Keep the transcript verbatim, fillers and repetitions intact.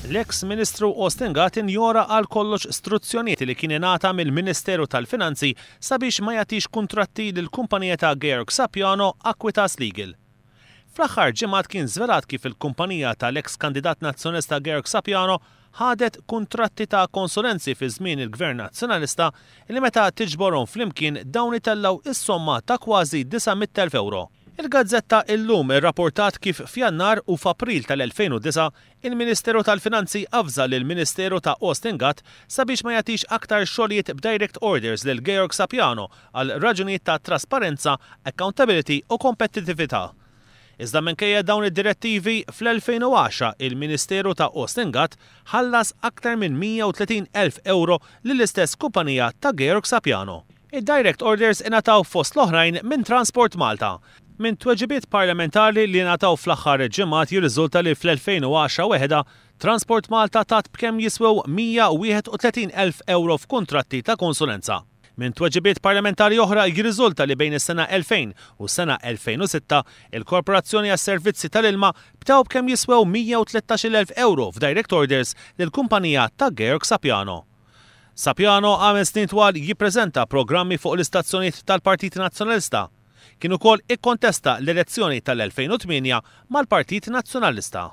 L-eks Ministru Austin Gatt injora għal kollox struzzjonijiet li kien ingħata mill-Ministeru tal-Finanzi sabiex ma jagħtix kuntratti lil kumpanija ta' Georg Sapiano, Aquitas Legal. Fl-aħħar ġimgħat kien żvelat kif il-kumpanija tal-eks kandidat nazzjonalista Georg Sapiano ħadet kuntratti ta' konsulenzi fi żmien il-Gvern Nazzjonalista li meta tiġborhom flimkien dawn itellgħu is-somma ta' kważi disa' mitt elf euro. Il-gazzetta Illum irrapportat kif f'Jannar u f'April tal-elfejn u disgħa il-Ministeru tal-Finanzi avża lill-Ministeru ta' Austin Gatt sabiex ma jagħtix aktar xogħlijiet b'direct orders lil Georg Sapiano għal raġunijiet ta' trasparenza, accountability u kompetittività. Iżda minkejja dawn id-direttivi, fl-elfejn u għaxra il-Ministeru ta' Austin Gatt ħallas aktar minn mija u tletin elf euro lill-istess kumpanija ta' Georg Sapiano. Id-direct orders ingħataw fost l-oħrajn minn Transport Malta. Minn tweġibiet parlamentari li ngħataw fl-aħħar ġimgħat jirriżulta li fl-elfejn u għaxra weħda Transport Malta tat b'kemm jiswew mija u wieħed u tletin elf euro f'kuntratti ta' konsulenza. Minn tweġibiet parlamentari oħra jirriżulta li bejn is-sena elfejn u s-sena elfejn u sitta il-Korporazzjoni għas-Servizzi tal-Ilma btaw b'kemm jiswew mija u tlettax-il elf euro f'direct orders lill-kumpanija ta' Georg Sapiano. Sapiano għamel snin twal jippreżenta programmi fuq l-istazzjonijiet tal-Partit Nazzjonalista. Kien ukoll ikkontesta l-elezzjoni tal-elfejn u tmienja mal-Partit Nazzjonalista.